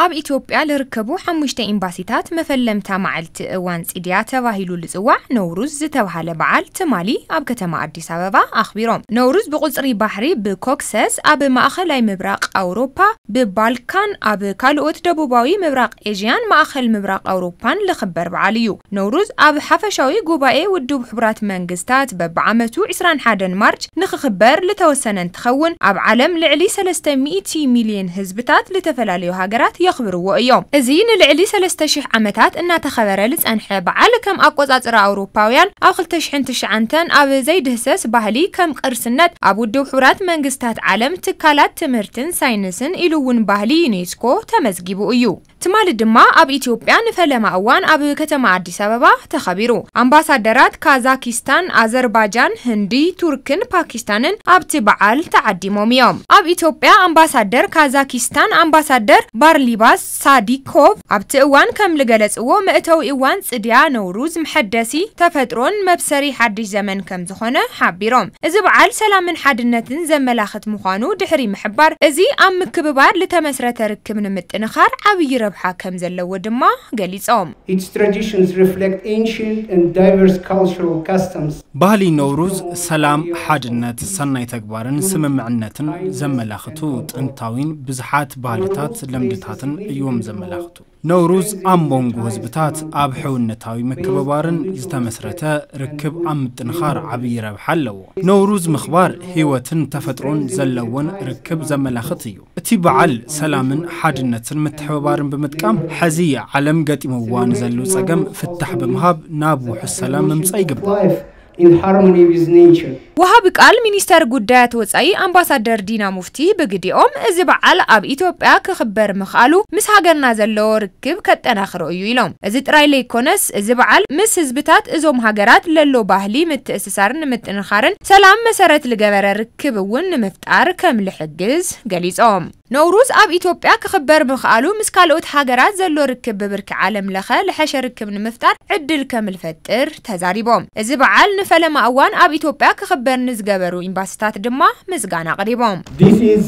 ኣብ ኢትዮጵያ ልርከቡ ሓሙሽተ ኤምባሲታት መፈለምታ መዓልቲ እዋን ጽድያ ተባሂሉ ልጽዋዕ ነውሩዝ ዝተባሃለ በዓል ትማሊ ኣብ ከተማ ኣዲስ ኣበባ ኣኽቢሮም። ነውሩዝ ብቁጽሪ ባሕሪ ብኮክሰስ ኣብ ማእኸላይ ምብራቕ ኣውሮፓ፣ ብባልካን ኣብ ካልኦት ደቡባዊ ምብራቕ ኤዥያን ማእኸል ምብራቕ ኣውሮፓን ልኽበር በዓል እዩ። ነውሩዝ ኣብ ሓፈሻዊ ጉባኤ ውድብ ሕቡራት መንግስታት በብዓመቱ ዕስራን ሓደን ማርች ንኽኽበር ልተወሰነ እንትኸውን፣ ኣብ ዓለም ልዕሊ ሰለስተ ሚእቲ ሚልዮን ህዝብታት ልተፈላለዩ ሃገራት የኽብርዎ እዮም። እዚ ንልዕሊ ሰለስተ ሽሕ ዓመታት እናተኸበረ ልጸንሐ በዓል፣ ከም ኣቆጻጽራ ኣውሮፓውያን ኣብ ክልተ ሽሕን ትሽዓተን ኣብ ዘይድህሰስ ባህሊ ከም ቅርስነት ኣብ ውድብ ሕቡራት መንግስታት ዓለም ትካላት ትምህርትን ሳይንስን ኢሉ እውን ባህሊ ዩኔስኮ ተመዝጊቡ እዩ። ትማሊ ድማ ኣብ ኢትዮጵያ ንፈለማ እዋን ኣብ ከተማ ኣዲስ ኣበባ ተኸቢሩ። ኣምባሳደራት ካዛኪስታን፣ ኣዘርባጃን፣ ህንዲ፣ ቱርክን ፓኪስታንን ኣብቲ በዓል ተዓዲሞም እዮም። ኣብ ኢትዮጵያ ኣምባሳደር ካዛኪስታን ኣምባሳደር ባርሊባስ ሳዲኮቭ ኣብቲ እዋን ከም ልገለጽዎ፣ መእተዊ እዋን ጽድያ ነውሩዝ መሐደሲ ተፈጥሮን መብሰሪ ሓድሽ ዘመን ከም ዝኾነ ሓቢሮም። እዚ በዓል ሰላምን ሓድነትን ዘመላኽት ምዃኑ ድሕሪ ምሕባር፣ እዚ ኣብ ምክብባር ልተመስረተ ርክብ ንምጥንኻር ዓብዪ ረብሓ ከም ዘለዎ ድማ ገሊጾም። Its traditions reflect ancient and diverse cultural customs. ባህሊ ነውሩዝ ሰላም፣ ሓድነት፣ ሰናይ ተግባርን ስምምዕነትን ዘመላኽቱ ጥንታዊን ብዙሓት ባህልታት ልምድታትን እዮም ዘመላኽቱ። ነውሩዝ ኣብ መንጎ ህዝብታት ኣብ ሕውነታዊ ምክብባርን ዝተመስረተ ርክብ ኣብ ምጥንኻር ዓብዪ ረብሓ ኣለዎ። ነውሩዝ ምኽባር ህይወትን ተፈጥሮን ዘለዎን ርክብ ዘመላኽት እዩ። እቲ በዓል ሰላምን ሓድነትን ምትሕብባርን ብምጥቃም፣ ሐዚ ዓለም ገጢምዋ ንዘሉ ጸገም ፍታሕ ብምሃብ ናብ ውሑስ ሰላም ምምጻእ ይግባእ። Life in harmony with nature. ወሃቢ ቃል ሚኒስተር ጉዳያት ወጻኢ ኣምባሳደር ዲና ሙፍቲ ብግዲኦም፣ እዚ በዓል ኣብ ኢትዮጵያ ክኽበር ምኽኣሉ ምስ ሃገርና ዘለዎ ርክብ ከጠናኽሮ እዩ ኢሎም። እዚ ጥራይ ለይኮነስ፣ እዚ በዓል ምስ ህዝብታት እዞም ሃገራት ለሎ ባህሊ ምትእስሳር ንምጥንኻርን ሰላም መሰረት ልገበረ ርክብ እውን ንምፍጣር ከም ልሕግዝ ገሊጾም። ነውሩዝ ኣብ ኢትዮጵያ ክኽበር ምኽኣሉ ምስ ካልኦት ሃገራት ዘሎ ርክብ ብብርኪ ዓለም ለኸ ልሐሸ ርክብ ንምፍጣር ዕድል ከም ልፈጥር ተዛሪቦም። እዚ በዓል ንፈለማ እዋን ኣብ ኢትዮጵያ ክኽበር ንዝገበሩ ኤምባሲታት ድማ ምስጋና ኣቕሪቦም። This is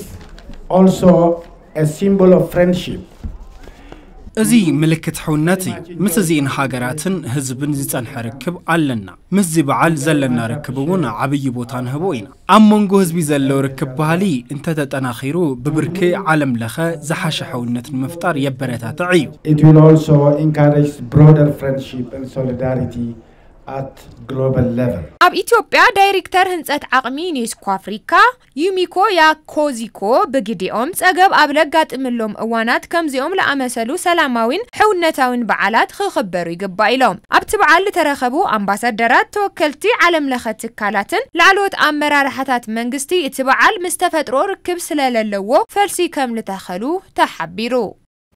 also a symbol of friendship. እዚ ምልክት ሕውነት እዩ። ምስ እዚእን ሃገራትን ህዝብን ዝጸንሐ ርክብ ኣለና። ምስዚ በዓል ዘለና ርክብ እውን ዓብዪ ቦታ ንህቦ ኢና። ኣብ መንጎ ህዝቢ ዘሎ ርክብ ባህሊ እንተተጠናኺሩ፣ ብብርኪ ዓለም ለኸ ዝሓሸ ሕውነት ንምፍጣር የበረታትዕ እዩ። It will also encourage broader friendship and solidarity at global level. ኣብ ኢትዮጵያ ዳይሬክተር ህንጸት ዓቕሚ ዩኔስኮ ኣፍሪካ ዩሚኮ ያኮዚኮ ብግዲኦም፣ ጸገብ ኣብ ለጋጥምሎም እዋናት ከምዚኦም ለኣመሰሉ ሰላማዊን ሕውነታዊን በዓላት ክኽበሩ ይግባእ ኢሎም። ኣብቲ በዓል ዝተረኸቡ ኣምባሳደራት፣ ተወከልቲ ዓለም ለኸ ትካላትን ላዕለዎት ኣመራርሓታት መንግስቲ፣ እቲ በዓል ምስ ተፈጥሮ ርክብ ስለለለዎ ፈልሲ ከም ልተኸሉ ተሓቢሩ።